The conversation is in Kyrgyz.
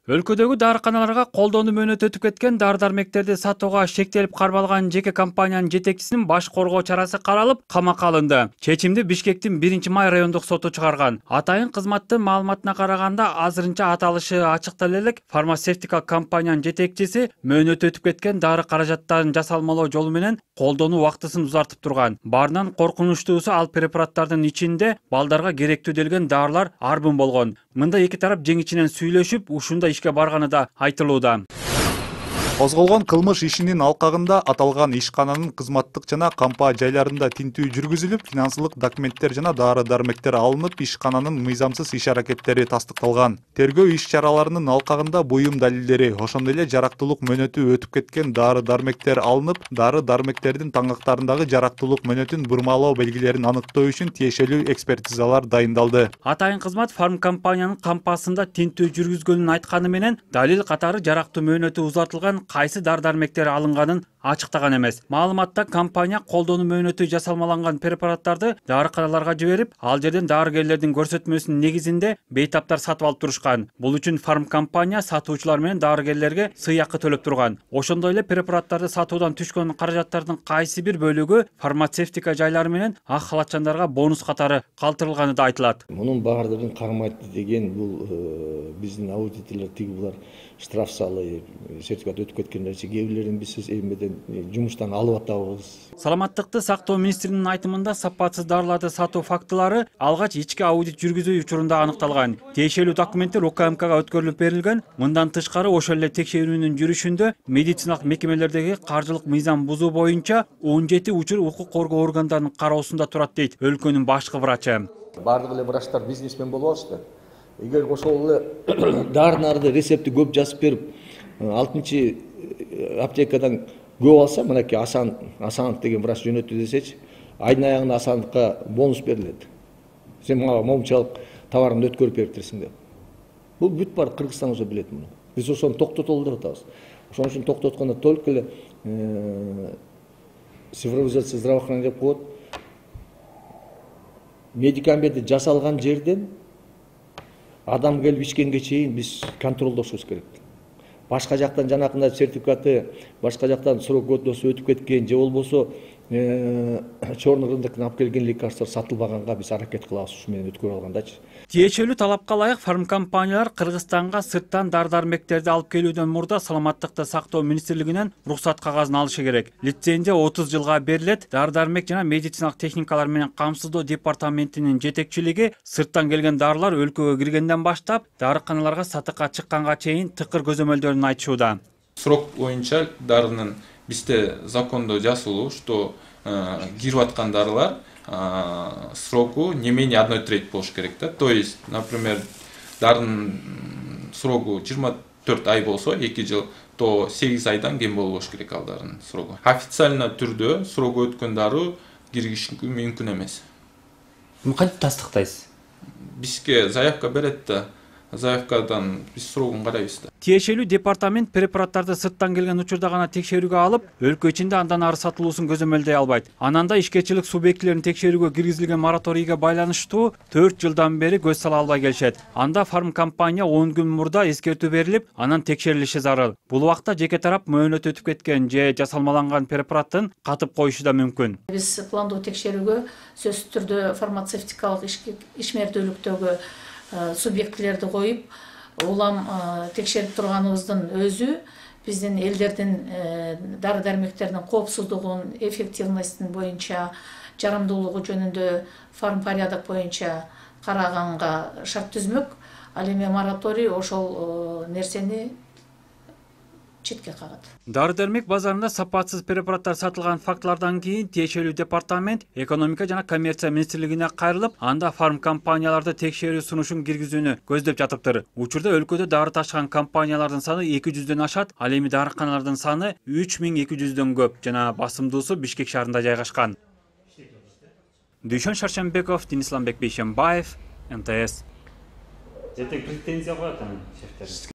Өлкөдөгү дарыканаларга колдонуу мөөнөтү өтүп кеткен дары-дармектерди сатууга шектелип кармалган жеке компаниянын жетекчисинин баш коргоо чарасы каралып, камакка алынды. Чечимди Бишкектин 1-Май райондук соту чыгарган. Атайын кызматтын маалыматына караганда, азырынча аталышы ачыктала элек, фармацевтикалык компаниянын жетекчиси мөөнөтү өтүп кеткен дары каражаттарын жасалмалоо жолу менен колдонуу убактысын узартып турган. Баарынан коркунучтуусу, ал препараттардын ичинде балдарга керектүү делген дарылар арбын болгон. Мында эки тарап жең ичинен сүйлөшүп, ушундай ишке барганы да айтылууда. Козголгон кылмыш ишинин алкагында аталган ишкананын кызматтык жана кампа жайларында тинтүү жүргүзүлүп, финансылык документтер жана дары-дармектер алынып, ишкананын мыйзамсыз иш-аракеттери тастыкталган. Тергөө иш-чараларынын алкагында буюм далилдери, ошондой эле жарактуулук мөөнөтү өтүп кеткен дары-дармектер алынып, дары-дармектердин таңактарындагы жарактуулук мөөнөтүн бурмалоо белгилерин аныктоо үчүн тиешелүү экспертизалар дайындалды. Атайын кызмат фармкомпаниянын кампасында тинтүү жүргүзгөнүн айтканы менен, далил катары жарактуу мөөнөтү узартылган кайсы дары-дармектер алынганын ачыктаган эмес. Маалыматта компания колдонуу мөөнөтү жасалмаланган препараттарды дарыканаларга жиберип, ал жерден дарыгерлердин көрсөтмөсүнүн негизинде бейтаптар сатып алып турушкан. Бул үчүн фармкомпания сатуучулар менен дарыгерлерге сыйакы төлөп турган. Ошондой эле препараттарды сатуудан түшкөн каражаттардын кайсы бир бөлүгү фармацевтика жайлары менен ак халатчандарга бонус катары калтырылганы да айтылат. Мунун баардыгын кармайт деген бул биздин аудиторлор булар штраф салып, сертификат өтүп кеткендерчи кээ бирлерин биз эмеден жумуштан алып атабыз. Саламаттыкты сактоо министринин айтымында, сапатсыз дарыларды сатуу фактылары алгач ички аудит жүргүзүү учурунда аныкталган. Тиешелүү документтер УКМКга өткөрүлүп берилген. Мындан тышкары, ошол эле текшерүүнүн жүрүшүндө медициналык мекемелердеги каржылык мыйзам бузуу боюнча 17 учур укук коргоо органдарынын кароосунда турат, дейт өлкөнүн башкы врачы. Бардык эле врачтар бизнесмен болуп алышты. Эгер ошол эле дары-нарды рецепти көп жазып берип, 6-чы аптекадан көп алса, мынакей Асанов деген врач жөнөттү десечи, айдын аягында Асановго бонус берилет. Сен мага момунчалык товарыңды өткөрүп бериптирсиң деп. Бул бүт бар Кыргызстан уже билет муну. Биз ошону токтотолу деп атабыз. Ошон үчүн токтоткондо только эле цифровизация здравоохранения деп коет. Медикаменти жасалган жерден адам келип ичкенге чейин биз контролдошубуз керек. Башка жактан жанакындай сертификаты, башка жактан срок годности өтүп кеткен же болбосо чорный рыноктон алып келген лекарства сатылбаганга биз аракет кылабыз ушу менен өткөрүп алгандачы. Тиешелүү талапка ылайык фармкомпаниялар Кыргызстанга сырттан дары-дармектерди алып келүүдөн мурда саламаттыкты сактоо министрлигинен уруксат кагазын алышы керек. Лицензия 30 жылга берилет. Дары-дармек жана медициналык техникалар менен камсыздоо департаментинин жетекчилиги сырттан келген дарылар өлкөгө киргенден баштап дарыканаларга сатыкка чыкканга чейин тыкыр көзөмөлдөрүн айтышууда. Срок боюнча дарынын бизде закондо жазылуу, что кирип аткан дарылар сроку не менее 1/3 болуш керек да. То есть, например, дарынын сроку 24 ай болсо, 2 жыл, то 8 айдан кем болбош керек ал дарынын срогу. Официально түрдө срогу өткөн дару киргизиши мүмкүн эмес. Кантип тастыктайсыз? Бизге заявка берет да, заявкадан биз срогун карайбыз да. Тиешелүү департамент препараттарды сырттан келген учурда гана текшерүүгө алып, өлкө ичинде андан ары сатылуусун көзөмөлдөй албайт. Ананда ишкерчилик субъектилерин текшерүүгө киргизилген мораторийге байланыштуу 4 жылдан бери көз сала албай келишет. Анда фармкомпания 10 күн мурда эскертүү берилип, анан текшерилиши зарыл. Бул убакта жеке тарап мөөнөтү өтүп кеткен же жасалмаланган препараттын катып коюшу да мүмкүн. Биз пландуу текшерүүгө сөзсүз түрдө фармацевтикалык ишмердүүлүктөгү субъектилерди коюп, улам текшерип турганыбыздын өзү биздин элдердин дары-дармектердин коопсуздугун, эффективностун боюнча, жарамдуулугу жөнүндө фармпорядок боюнча караганга шарт түзмөк. Ал эми мораторий ошол нерсени четке кагат. Дары-дармек базарында сапатсыз препараттар сатылган фактылардан кийин тиешелүү департамент экономика жана коммерция министрлигине кайрылып, анда фармкомпанияларды текшерүү сунушун киргизүүнү көздөп жатыптыр. Учурда өлкөдө дары ташыган компаниялардын саны 200дөн ашат, ал эми дарыканалардын саны 3200дөн көп жана басымдуусу Бишкек шаарында жайгашкан. Дүйшөн Шаршембеков, Денислам Бекбейшембаев, МТС. Претензия коет анын шефтери.